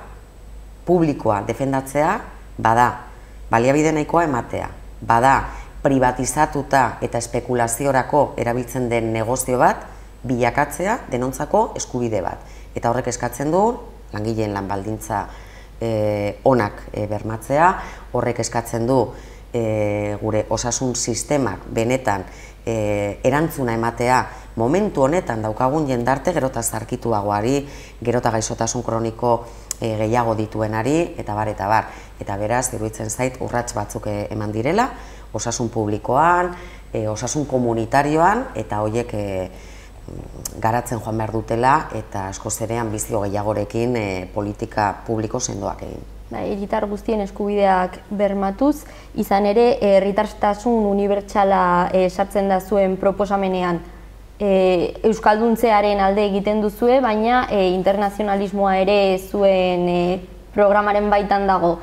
publikoa defendatzea bada, baliabide nahikoa ematea, bada privatizatuta eta espekulaziorako erabiltzen den negozio bat bilakatzea denontzako eskubide bat. Eta horrek eskatzen du langileen lan baldintza onak bermatzea, horrek eskatzen du gure osasun sistemak benetan erantzuna ematea momentu honetan daukagun jendarte gerota zarkituagoari, gerota gaixotasun kroniko gehiago dituenari, eta bar, eta bar. Eta beraz, iruditzen zait, urrats batzuk eman direla, osasun publikoan, osasun komunitarioan, eta horiek garatzen joan behar dutela, eta askoz ere anbizio gehiagorekin politika publiko sendoak egin. Herritar guztien eskubideak bermatuz, izan ere, herritartasun unibertsala sartzen da zuen proposamenean. Euskalduntzearen alde egiten duzue, baina internazionalismoa ere zuen programaren baitan dago.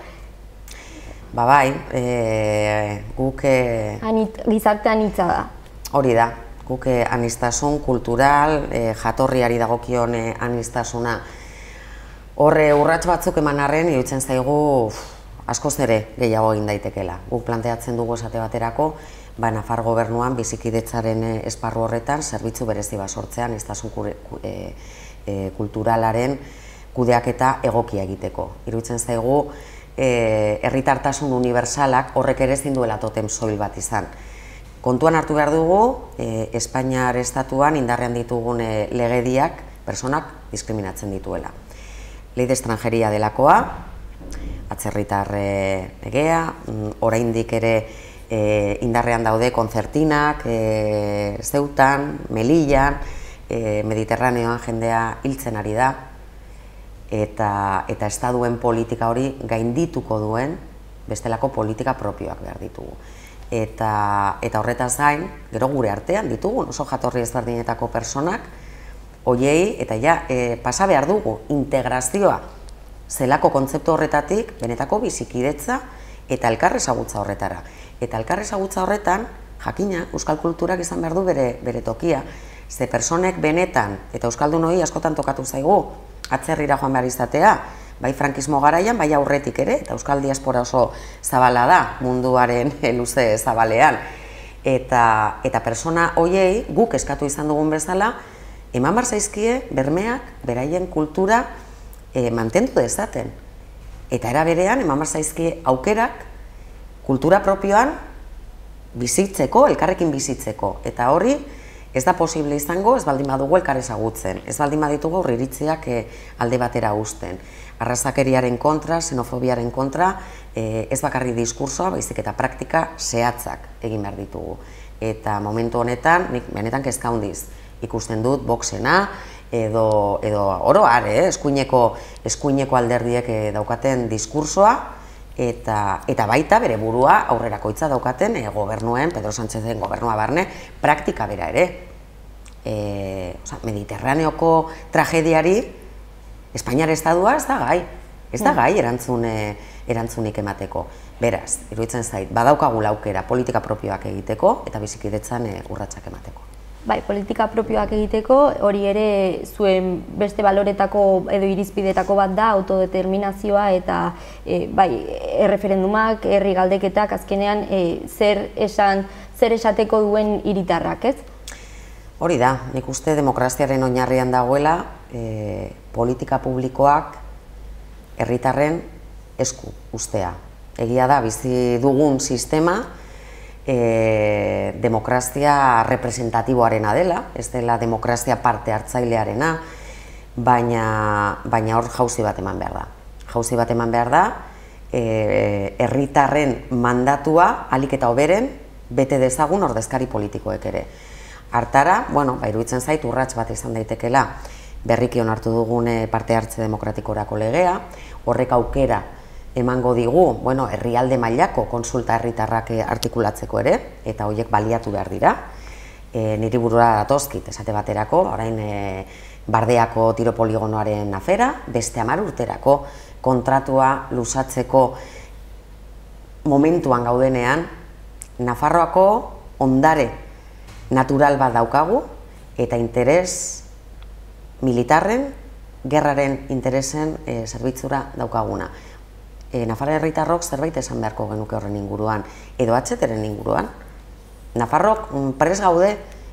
Ba bai, guk... Gizarte anitza da. Hori da, guk aniztasun kultural, jatorriari dagokion aniztasuna. Horre urrats batzuk eman arren, iruditzen zaigu askoz ere gehiago egin daitekela. Guk planteatzen dugu esate baterako, ba, Nafar gobernuan bizikidetzaren esparru horretan zerbitzu berezi bat sortzean aniztasun kulturalaren kudeaketa egokia egiteko. Iruditzen zaigu herritartasun unibertsalak horrek ere ezin duela totem soil bat izan. Kontuan hartu behar dugu, Espainiar estatuan indarrean ditugun legediak personak diskriminatzen dituela. Ley de extranjeria delakoa, atzerritar legea, oraindik ere e, indarrean daude kontzertinak, e, Zeutan, Melillan, e, Mediterraneoan jendea hiltzen ari da, eta, eta estaduen politika hori gaindituko duen bestelako politika propioak behar ditugu. Eta, eta horretaz gain, gero gure artean ditugu, oso jatorri ezberdinetako personak, hoiei, eta ja, e, pasa behar dugu, integrazioa, zelako kontzeptu horretatik, benetako bizikidetza eta elkar ezagutza horretara. Eta elkar ezagutza horretan, jakina, euskal kulturak izan behar du bere, bere tokia, ze personek benetan, eta euskaldun hori askotan tokatu zaigu, atzerrira joan behar izatea, bai frankismo garaian, bai aurretik ere, eta euskal diaspora oso zabala da, munduaren luze zabalean. Eta, eta persona hoiei, guk eskatu izan dugun bezala, eman bar zaizkie bermeak, beraien kultura e, mantendu dezaten. Eta era berean, eman bar zaizkie aukerak, kultura propioan bizitzeko, elkarrekin bizitzeko. Eta hori, ez da posible izango, ez baldin badugu elkar ezagutzen, ez baldin baditugu aurriritziak e, alde batera uzten. Arrazakeriaren kontra, xenofobiaren kontra, e, ez bakarri diskursoa, baizik eta praktika zehatzak egin behar ditugu. Eta momentu honetan, nik benetan kezka handiz ikusten dut boxena, edo, edo oro har, eh, eskuineko, eskuineko alderdiek eh, daukaten diskursoa, eta, eta baita bere burua aurrerakoitza daukaten eh, gobernuen, Pedro Sánchezen gobernua barne, praktika bera ere. E, oza, Mediterraneoko tragediari, Espainiar estadua ez da gai, ez da gai erantzun, e, erantzunik emateko. Beraz, iruditzen zait, badaukagula aukera politika propioak egiteko eta bizikidetzan e, urratsak emateko. Bai, politika propioak egiteko, hori ere zuen beste baloretako edo irizpidetako bat da, autodeterminazioa eta e, bai, erreferendumak, herri galdeketak, azkenean e, zer esan, zer esateko duen hiritarrak, ez? Hori da, nik uste demokraziaren oinarrian dagoela, e, politika publikoak herritarren esku ustea. Egia da, bizi dugun sistema, E, demokrazia representatiboarena dela, ez dela demokrazia parte hartzailearena, baina, baina hor jauzi bat eman behar da. Jauzi bat eman behar da, herritarren e, mandatua ahalik eta hoberen bete dezagun ordezkari politikoek ere. Hartara, bueno, ba, iruditzen zait urrats bat izan daitekela berriki onartu dugun parte hartze demokratikorako legea, horrek aukera emango digu, bueno, herrialde mailako konsulta herritarrak artikulatzeko ere, eta horiek baliatu behar dira. E, niri burura datozkit, esate baterako, orain e, Bardeako tiro poligonoaren afera, beste hamar urterako kontratua luzatzeko momentuan gaudenean, Nafarroako ondare natural bat daukagu, eta interes militarren, gerraren interesen e, zerbitzura daukaguna. E, Nafarra herritarrok zerbait esan beharko genuke horren inguruan, edo atzeteren inguruan. Nafarrok prest gaude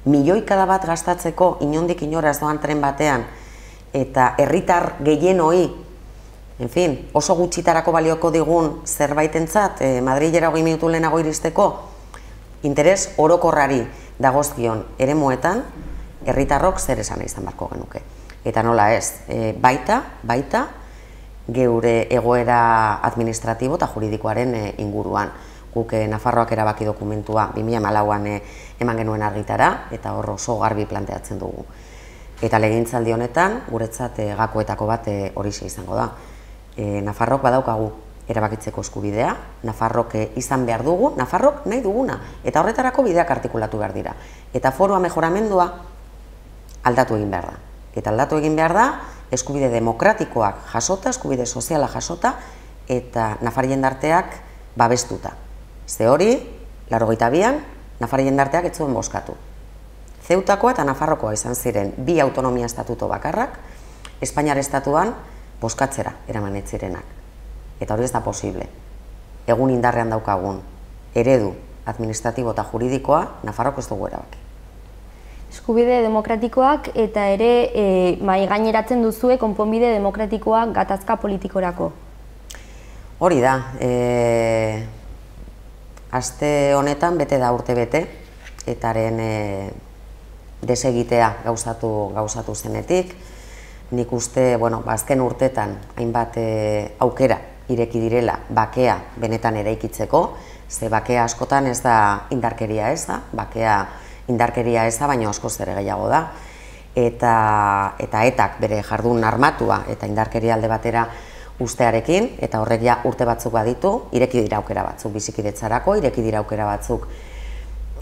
milioikada bat gastatzeko inondik inora ez doan tren batean, eta herritar gehienoi, en fin, oso gutxitarako balioko digun zerbaitentzat, e, Madrilera hogei minutu lehenago iristeko, interes orokorrari dagozkion eremuetan, herritarrok zer esan izan beharko genuke. Eta nola ez, e, baita, baita, geure egoera administratibo eta juridikoaren e, inguruan. Guk e, Nafarroak erabaki dokumentua bi mila hamalauan e, eman genuen argitara, eta hor oso garbi planteatzen dugu. Eta legegintzaldi honetan, guretzat e, gakoetako bat e, horixe izango da. E, Nafarrok badaukagu erabakitzeko eskubidea, Nafarrok e, izan behar dugu, Nafarrok nahi duguna, eta horretarako bideak artikulatu behar dira. Eta foroa mejoramendua aldatu egin behar da. Eta aldatu egin behar da, eskubide demokratikoak jasota, eskubide soziala jasota, eta Nafar jendarteak babestuta. Ze hori, laurogeita bian, Nafar jendarteak ez zuen bozkatu. Zeutakoa eta Nafarrokoa izan ziren bi autonomia estatuto bakarrak, Espainiar estatuan bozkatzera eraman ez zirenak. Eta hori ez da posible. Egun indarrean daukagun eredu administratibo eta juridikoa, Nafarrok ez dugu erabaki. Eskubide demokratikoak eta ere e, mai gaineratzen duzue konponbide demokratikoak gatazka politikorako. Hori da, e, aste honetan bete da urte bete, etaren e, desegitea gauzatu, gauzatu zenetik. Nik uste, bueno, azken urtetan hainbat e, aukera ireki direla bakea benetan eraikitzeko, ze bakea askotan ez da indarkeria eza, bakea indarkeria eza, baina askoz ere gehiago da, eta eta etak bere jardun armatua eta indarkeria alde batera ustearekin, eta horrek ja urte batzuk baditu, ireki dira aukera batzuk bizikidetzarako, ireki dira aukera batzuk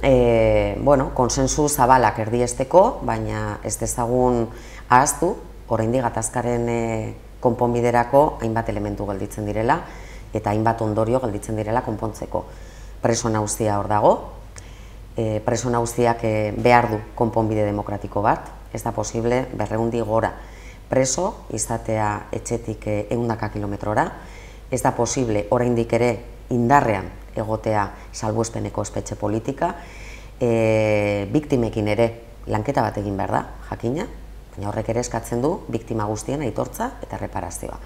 e, bueno, konsensu zabalak erdiesteko, baina ez dezagun ahaztu, oraindik gatazkaren e, konponbiderako hainbat elementu gelditzen direla, eta hainbat ondorio gelditzen direla konpontzeko. Preso nauzia hor dago, e, preso nauziak e, behar du konponbide demokratiko bat, ez da posible berreundi gora preso izatea etxetik ehundaka kilometrora, ez da posible oraindik ere indarrean egotea salbuespeneko espetxe politika, e, biktimekin ere lanketa bat egin behar da, jakina, baina horrek ere eskatzen du biktima guztien aitortza eta reparazioa.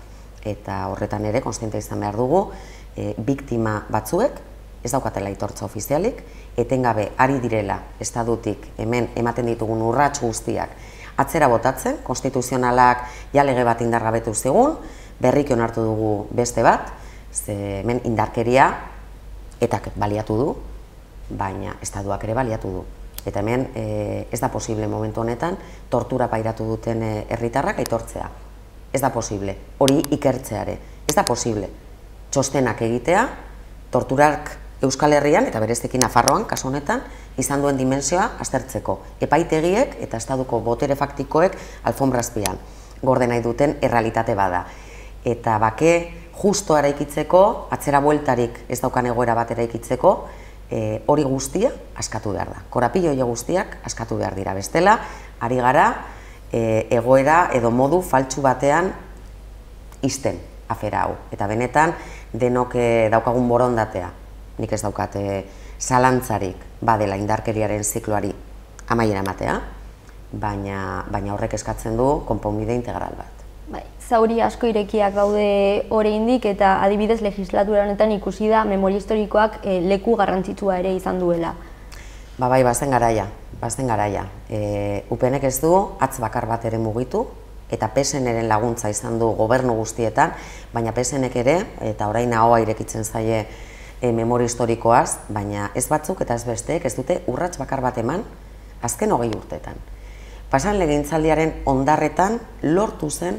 Eta horretan ere kontziente izan behar dugu, e, biktima batzuek ez daukatela aitortza ofizialik, etengabe ari direla estadutik hemen ematen ditugun urrats guztiak atzera botatzen, konstituzionalak ja lege bat indargabetu zigun, berriki onartu dugu beste bat, ze hemen indarkeria etak baliatu du, baina estaduak ere baliatu du. Eta hemen e, ez da posible momentu honetan tortura pairatu duten herritarrak aitortzea. Ez da posible, hori ikertzeare, ez da posible. Txostenak egitea, torturak Euskal Herrian eta bereziki Nafarroan, kasu honetan, izan duen dimensioa aztertzeko. Epaitegiek eta estaduko botere faktikoek alfombrazpian gorde nahi duten errealitate bada. Eta bake justo eraikitzeko, atzera bueltarik ez daukan egoera bat eraikitzeko, e, hori guztia askatu behar da. Korapilo hori guztiak askatu behar dira. Bestela, ari gara e, egoera edo modu faltsu batean izten afera hau. Eta benetan, denok daukagun borondatea. Nik ez daukate zalantzarik badela indarkeriaren zikloari amaiera ematea, baina, baina horrek eskatzen du konponbide integral bat. Bai, zauri asko irekiak daude oraindik eta adibidez legislatura honetan ikusi da memoria historikoak e, leku garrantzitsua ere izan duela. Ba bai, bazen garaia, bazen garaia. E, U P Nek ez du hatz bakar bat ere mugitu, eta P S N-ren laguntza izan du gobernu guztietan, baina P S N-ek ere, eta orain ahoa irekitzen zaie E, memoria historikoaz, baina ez batzuk eta ez besteek ez dute urrats bakar bat eman azken hogei urtetan. Pasan legegintzaldiaren ondarretan lortu zen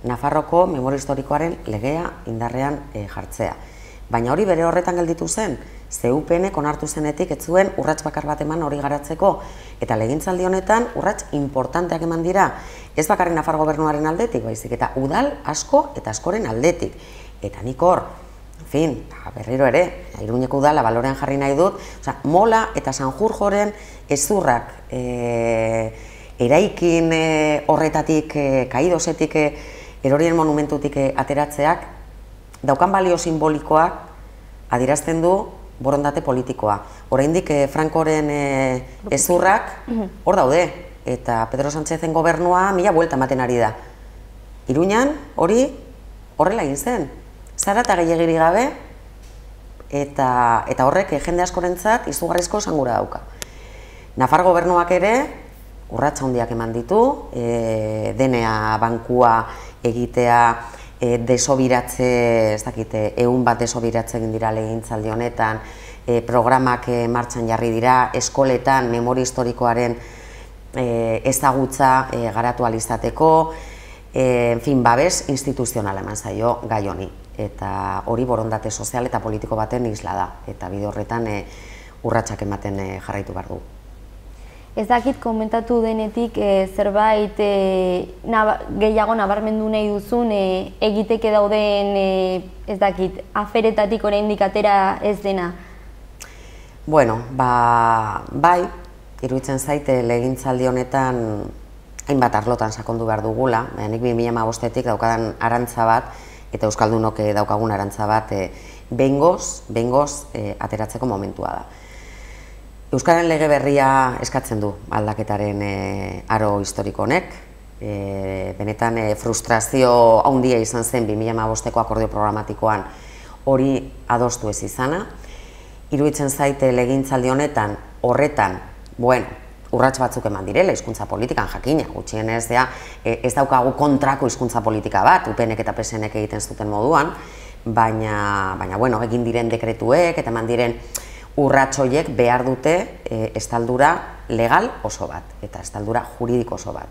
Nafarroko memoria historikoaren legea indarrean e, jartzea. Baina hori bere horretan gelditu zen, ze U P Nek onartu zenetik ez zuen urrats bakar bat eman hori garatzeko, eta legegintzaldi honetan urrats importanteak eman dira, ez bakarrik Nafar gobernuaren aldetik, baizik eta udal asko eta askoren aldetik. Eta nik hor, en fin, berriro ere, Iruñeko udala balorean jarri nahi dut, oza, Mola eta Sanjurjoren ezurrak e, eraikin e, horretatik, e, kaidosetik, e, erorien monumentutik e, ateratzeak, daukan balio simbolikoak adierazten du borondate politikoa. Oraindik e, Frankoren e, ezurrak hor daude, eta Pedro Sánchezen gobernua mila buelta ematen ari da. Iruñan hori horrela egin zen. Zara eta gehiagiri gabe, eta, eta horrek jende askorentzat izugarrizko esangura dauka. Nafar gobernuak ere, urratsa handiak eman ditu, e, D N A bankua egitea, e, desobiratze, ez dakite, ehun bat desobiratze egin dira legegintzaldi honetan, e, programak e, martxan jarri dira, eskoletan memoria historikoaren e, ezagutza e, garatu ahal izateko, e, en fin, babes instituzionala eman zaio gai honi. Eta hori borondate sozial eta politiko baten isla da, eta bide horretan e, urratsak ematen e, jarraitu behar du. Ez dakit komentatu denetik e, zerbait e, naba, gehiago nabarmendu nahi duzun e, egiteke dauden e, ez dakit, aferetatik oraindik atera ez dena? Bueno, ba, bai, iruditzen zaite legegintzaldi honetan hainbat arlotan sakondu behar dugula, nik bi mila hamabostetik daukadan arantza bat, eta Euskaldunok daukagun arantza bat e, behingoz, behingoz e, ateratzeko momentua da. Euskaren lege berria eskatzen du aldaketaren e, aro historiko honek, e, benetan e, frustrazio handia izan zen bi mila hamabosteko akordio programatikoan hori adostu ez izana. Iruditzen zaite legegintzaldi honetan horretan, bueno, urrats batzuk eman direla hizkuntza politikan jakina, gutxienez ja, ez daukagu kontrako hizkuntza politika bat, U P Nek eta P S Nek egiten zuten moduan, baina, baina bueno, egin diren dekretuek eta eman diren urratsoiek behar dute e, estaldura legal oso bat, eta estaldura juridiko oso bat.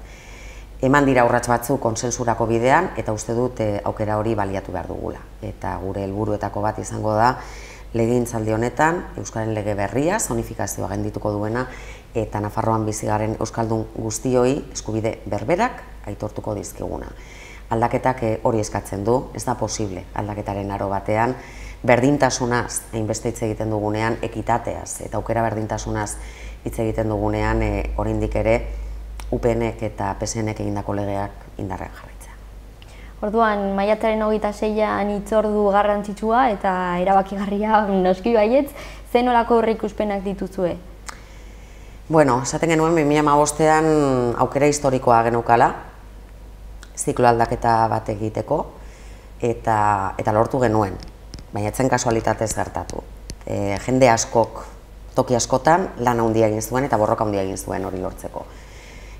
Eman dira urrats batzu konsensurako bidean, eta uste dut e, aukera hori baliatu behar dugula. Eta gure helburuetako bat izango da, legegintzaldi honetan, Euskararen lege berria, zonifikazioa gendituko duena, eta Nafarroan bizigaren euskaldun guztioi eskubide berberak aitortuko dizkiguna. Aldaketak hori eskatzen du, ez da posible aldaketaren aro batean, berdintasunaz hainbeste hitz egiten dugunean, ekitateaz eta aukera berdintasunaz hitz egiten dugunean, e, oraindik ere U P Nek eta P S Nek egindako legeak indarrean jarraitzea. Orduan, maiatzaren hogeita seian hitzordu garrantzitsua eta erabakigarria noski baietz, zer nolako aurreikuspenak dituzue? Bueno, esaten genuen bi mila hamabostean aukera historikoa geneukala, ziklo aldaketa bat egiteko, eta, eta lortu genuen, baina etzen kasualitatez gertatu. E, jende askok, toki askotan, lan handia egin zuen eta borroka handia egin zuen hori lortzeko.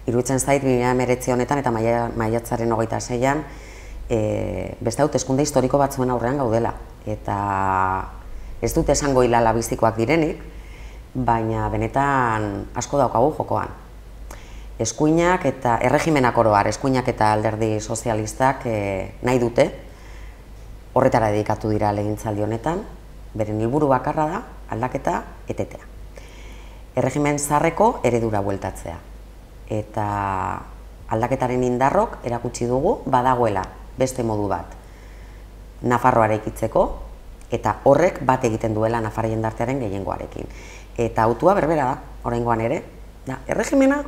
Iruditzen zait, bi mila hemeretzi honetan eta maiatzaren hogeita seian, e, beste hauteskunde historiko batzuen aurrean gaudela. Eta ez dut esango hilala bizikoak direnik, baina benetan asko daukagu jokoan. Eskuinak eta erregimenak oroar, eskuinak eta alderdi sozialistak e, nahi dute, horretara dedikatu dira legegintzaldi honetan, beren helburu bakarra da aldaketa etetea. Erregimen zaharreko eredura bueltatzea. Eta aldaketaren indarrok erakutsi dugu badagoela beste modu bat Nafarroa eraikitzeko, eta horrek bat egiten duela Nafarra jendartearen gehiengoarekin. Eta autua berbera da, oraingoan ere, da, erregimena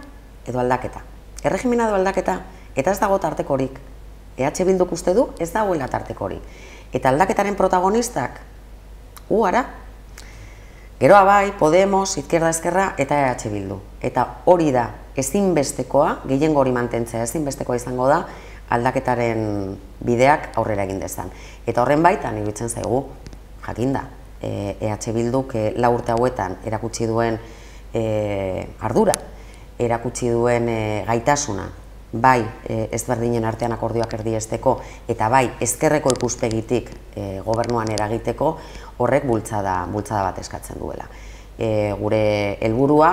edo aldaketa. Erregimena edo aldaketa, eta ez dago tartekorik. E H Bilduk uste du, ez dagoela tartekorik. Eta aldaketaren protagonistak, gu ara, geroa bai, Podemos, Izquierda Ezkerra eta E H Bildu. Eta hori da, ezinbestekoa, gehiengo hori mantentzea ezinbestekoa izango da, aldaketaren bideak aurrera egin dezan. Eta horren baitan, iruditzen zaigu, jakinda, E H Bilduk lau urte hauetan erakutsi duen ardura, erakutsi duen gaitasuna, bai ezberdinen artean akordioak erdiesteko, eta bai ezkerreko ikuspegitik gobernuan eragiteko, horrek bultzada bat eskatzen duela. Gure helburua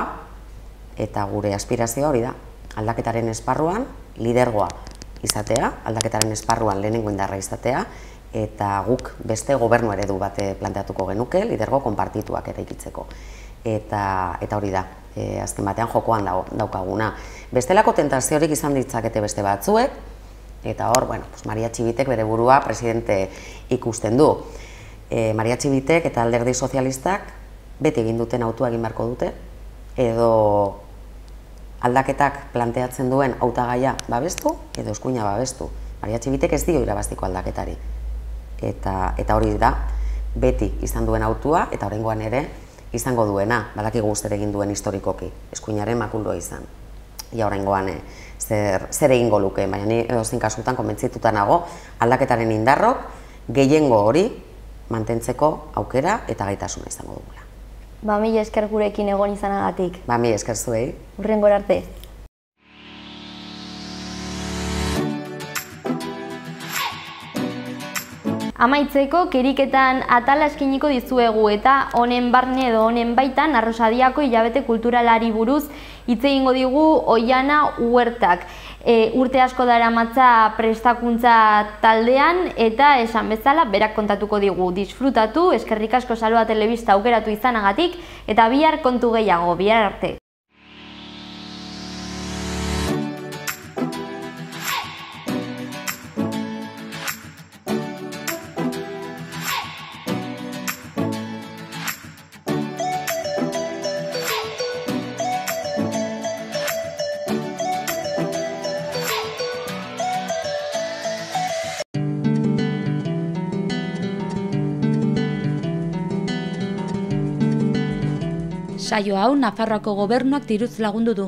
eta gure aspirazioa hori da, aldaketaren esparruan lidergoa izatea, aldaketaren esparruan lehenengo indarra izatea, eta guk beste gobernu eredu bat planteatuko genuke, lidergo konpartituak eraikitzeko. Eta hori da, azken batean jokoan daukaguna. Bestelako tentaziorik izan ditzakete beste batzuek, eta hor, bueno, Maria Txibitek bere burua presidente ikusten du. Maria Txibitek eta alderdi sozialistak beti egin duten autua egin beharko dute, edo aldaketak planteatzen duen hautagaia babestu, edo eskuina babestu. Maria Txibitek ez dio irabaztiko aldaketari. Eta hori da, beti izan duen autua, eta oraingoan ere izango duena, badakigu zer egin duen historikoki, eskuinaren makuldoa izan. Ia oraingoan zer egingo luke, baina ni edozein kasutan konbentzituta nago, aldaketaren indarrok gehiengo hori mantentzeko aukera eta gaitasuna izango dugula. Ba, mila esker gurekin egon izanagatik. Ba, mila esker zuei. Hurrengora arte. Amaitzeko, keriketan atala eskiniko dizuegu eta honen barne edo honen baitan Arrosadiako hilabete kulturalari buruz hitz egingo digu Oiana Huertak. Urte asko daramatza prestakuntza taldean eta esan bezala berak kontatuko digu. Disfrutatu, eskerrik asko Saloa Telebista aukeratu izanagatik eta bihar kontu gehiago, bihar arte. Saio hau Nafarroako gobernuak diruz lagundu du.